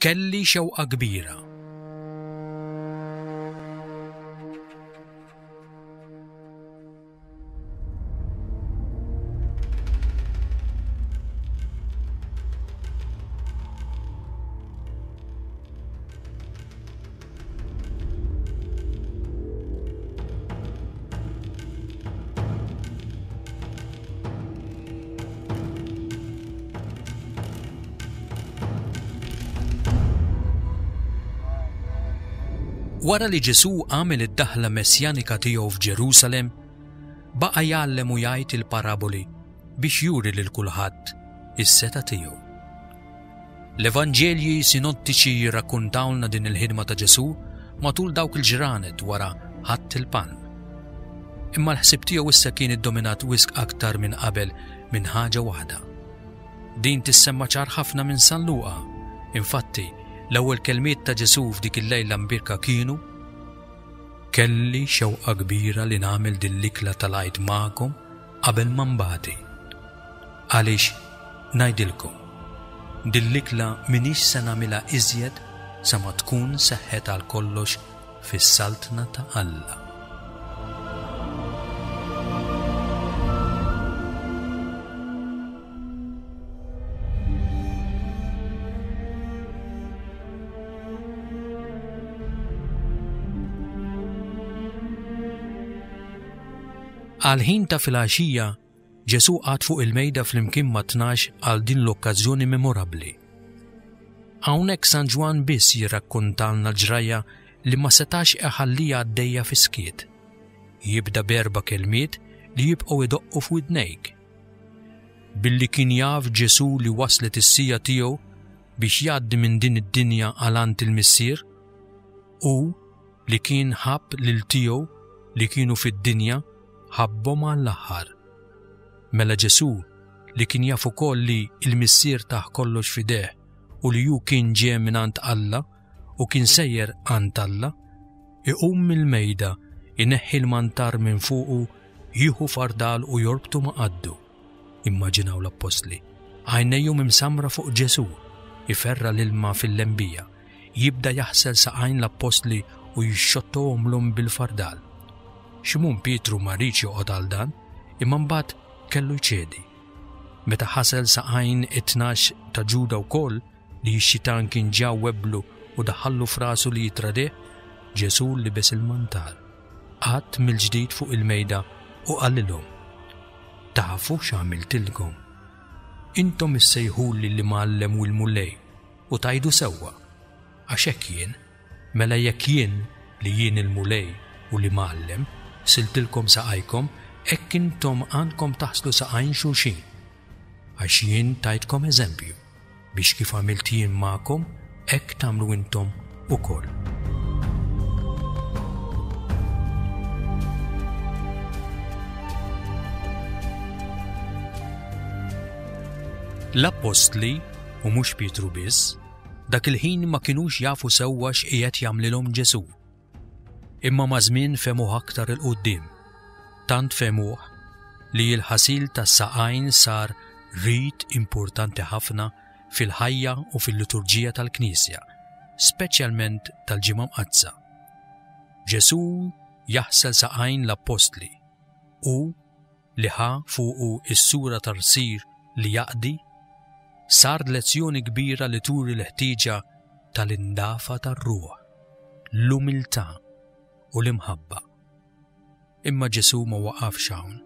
Kelli xewqa kbira. Wara li Ġesù għamel id-daħla messjanika tiegħu f'Ġerusalemm, baqa' jgħallem u jgħid il-paraboli biex juri lil kulħadd is-setgħa tiegħu. L-Evanġelji sinottiċi jirrakkuntawlna din il-ħidma ta' Ġesù matul dawk il-ġranet wara Ħadd il-Palm. Imma l-ħsieb tiegħu issa kien iddominat wisq aktar minn qabel minn ħaġa waħda. Din tissemma ċar ħafna minn San Luqa. Infatti, l-ewwel kelmiet ta' Ġesù f'dik il-lejla mbierka kienu, Kelli xewqa kbira li nagħmel din l-ikla tal-Għid magħkom qabel ma nbati. Għaliex, ngħidilkom, din l-ikla m'iniex se nagħmilha iżjed sa ma tkun seħħet għalkollox fis-Saltna ta' Alla. Għall-ħin ta' filgħaxija, Ġesù qagħad fuq il-mejda flimkien mat-Tnax għal din l-okkażjoni memorabbli. Hawnhekk San Ġwann biss jirrakkontalna l-ġrajja li ma setax iħalliha għaddejja fis-skiet. Jibda b'erba' kelmiet li jibqgħu jdoqqu f'widnejk. Billi kien jaf Ġesù li waslet is-siegħa tiegħu biex jgħaddi minn din id-dinja għal għand il-Missier, hu li kien ħabb lil tiegħu li kienu fid-dinja ħabbhom għall-aħħar. Mela Ġesù, li kien jaf ukoll li l-Missier tah kollox f'idejh u li hu kien ġie mingħand Alla u kien sejjer għand Alla, iqum mill-mejda, ineħħi l-mantar minn fuqu, jieħu fardal u jorbtu ma' qaddu. Immaġinaw l-appostli, għajnejhom imsammra fuq Ġesù, iferra' l-ilma fil-lembija, jibda jaħsel saqajn l-appostli u jixxottohomlhom bil-fardal. Ximun Pietru ma riedx joqgħod għal dan, imma mbagħad kellu jċedi. Meta ħasel saqajn it-tnax ta' Ġuda wkoll, li x-xitan kien ġa webblu u daħħallu f'rasu li jittradih, Ġesù libes il-mantar, qagħad mill-ġdid fuq il-mejda u qalilhom, Tafu x'għamiltilkom? Intom issejħuli l-Imgħallem u l-Mulej, u tgħidu sewwa, għax hekk jien. Mela jekk jien, li jien il-Mulej u l-Imgħallem, ħsiltilkom saqajkom, hekk intom għandkom taħslu saqajn xulxin. Għax jien tajtkom eżempju, biex kif għamilt jien magħkom, hekk tagħmlu intom ukoll. L-appostli, u mhux Pietru biss, dak il-ħin ma kinux jafu sewwa x'qiegħed jagħmlilhom Ġesù. Imma maż-żmien fehmuh aktar 'il quddiem. Tant fehmuh li l-ħasil tas-saqajn sar rit importanti ħafna fil-ħajja u fil-liturġija tal-Knisja, speċjalment tal-Ġimgħa Mqaddsa. Ġesù jaħsel saqajn l-appostli u, li ħa fuqu s-sura ta' rsir li jaqdi, sar lezzjoni kbira li turi l-ħtieġa tal-indafa tar-ruħ, l-umiltà u l-imħabba. Imma Ġesù ma waqafx hawn.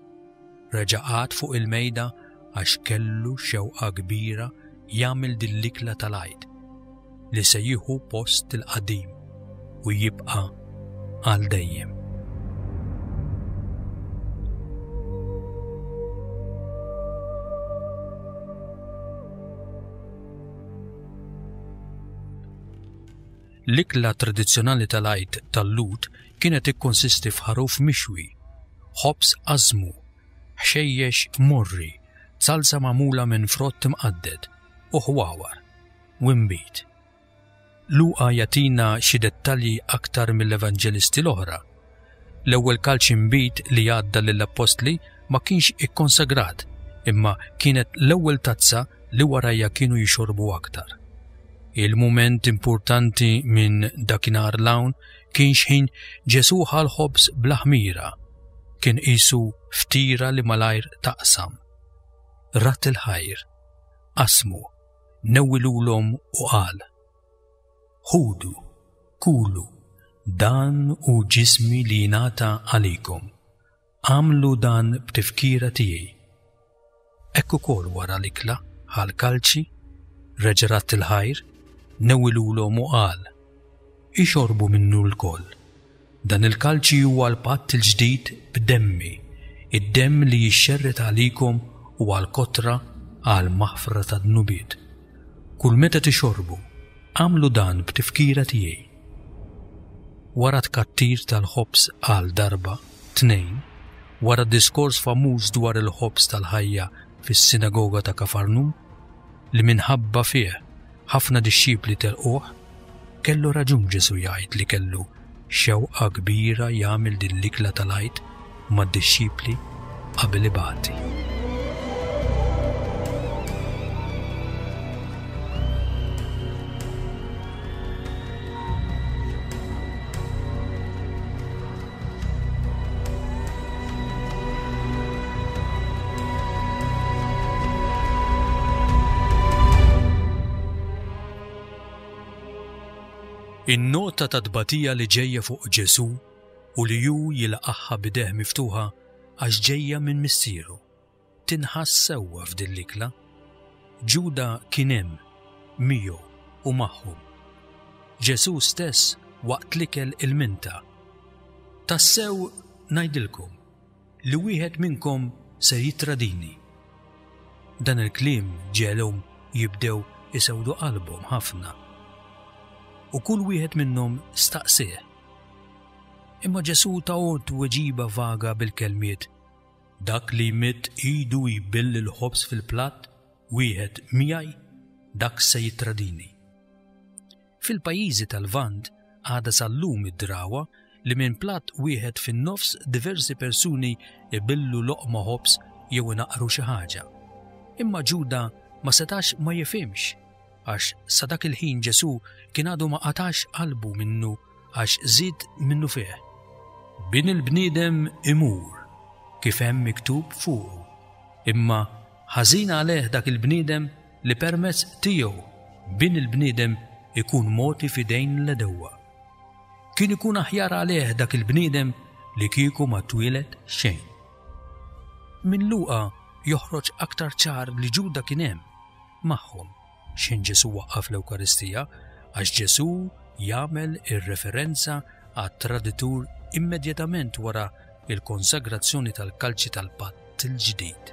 Reġa' qagħad fuq il-mejda għax kellu xewqa kbira jagħmel din l-ikla tal-Għid li se jieħu post il-qadim u jibqa' għal dejjem. L-ikla tradizzjonali tal-Għid tal-Lhud kienet tikkonsisti f'ħaruf mixwi, ħobż ażmu, ħxejjex morri, zalza magħmula minn frott imqadded, u ħwawar, u nbid. Luqa jagħtina xi dettalji aktar mill-Evanġelisti l-oħra. L-ewwel kalċ inbid li għadda lill-appostli ma kienx ikkonsagrat, imma kienet l-ewwel tazza li warajha kienu jixorbu aktar. Il-mument importanti minn dakinhar 'l hawn kien x'ħin Ġesù ħa l-ħobż bla ħmira. Kien qisu ftira li malajr taqsam. Radd il-ħajr, qasmu, newwilulhom u qal, Ħudu, kulu, dan hu ġismi li jingħata għalikom. Agħmlu dan b'tifkira tiegħi. Hekk ukoll wara l-ikla ħa l-kalċi, reġa' radd il-ħajr, newwilulhom u qal, Ixorbu minnu lkoll. Dan il-kalċi huwa l-patt il-ġdid b'demmi, id-demm li jixxerred għalikom u għall-kotra għall-maħfra tad-dnubiet. Kull meta tixorbu, agħmlu dan b'tifkira tiegħi. Wara t-tkattir tal-ħobż għal darba, tnejn, wara d-diskors famuż dwar il-ħobż tal-ħajja fis-sinagoga ta' Kafarnum, li minħabba fih ħafna dixxipli telquh, kellu raġun Ġesù jgħid li kellu xewqa kbira jagħmel din l-ikla tal-Għid mad-dixxipli qabel ibati. In-nota ta' tbatija li ġejja fuq Ġesù u li hu jilqagħha b'idejh miftuħa għax ġejja minn Missieru, tinħass sewwa f'din l-ikla. Ġuda kien hemm, miegħu u magħhom. Ġesù stess waqt l-ikel ilminta, Tassew ngħidilkom li wieħed minnkom ser jittradini. Dan il-kliem ġegħelhom jibdew isewdu qalbhom ħafna. U kull wieħed minnhom staqsieh, Imma Ġesù tahom tweġiba vaga bil-kelmiet, Dak li jmidd idu jbill il-ħobż fil-platt wieħed miegħi, dak se jittradini. Fil-pajjiżi tal-Lvant għadha sal-lum id-drawwa li minn platt wieħed fin-nofs diversi persuni jbillu loqma ħobż jew inaqqru xi ħaġa. Imma Ġuda ma setax ma jifhimx għax sa dak il-ħin Ġesù kien għadu ma qatax qalbu minnu għax żied minnufih, Bin il-bniedem imur, kif hemm miktub fuqu, imma ħażin għalih dak il-bniedem li permezz tiegħu Bin il-bniedem ikun mogħti f'idejn l-għedewwa. Kien ikun aħjar għalih dak il-bniedem li kieku ma twieled xejn. Minn Luqa joħroġ aktar ċar li Ġuda kien hemm magħhom. X'ħin Ġesù waqqaf l-Ewkaristija, għax Ġesù jagħmel ir-referenza għat-traditur immedjatament wara l-konsagrazzjoni tal-kalċi tal-Patt il-Ġdid.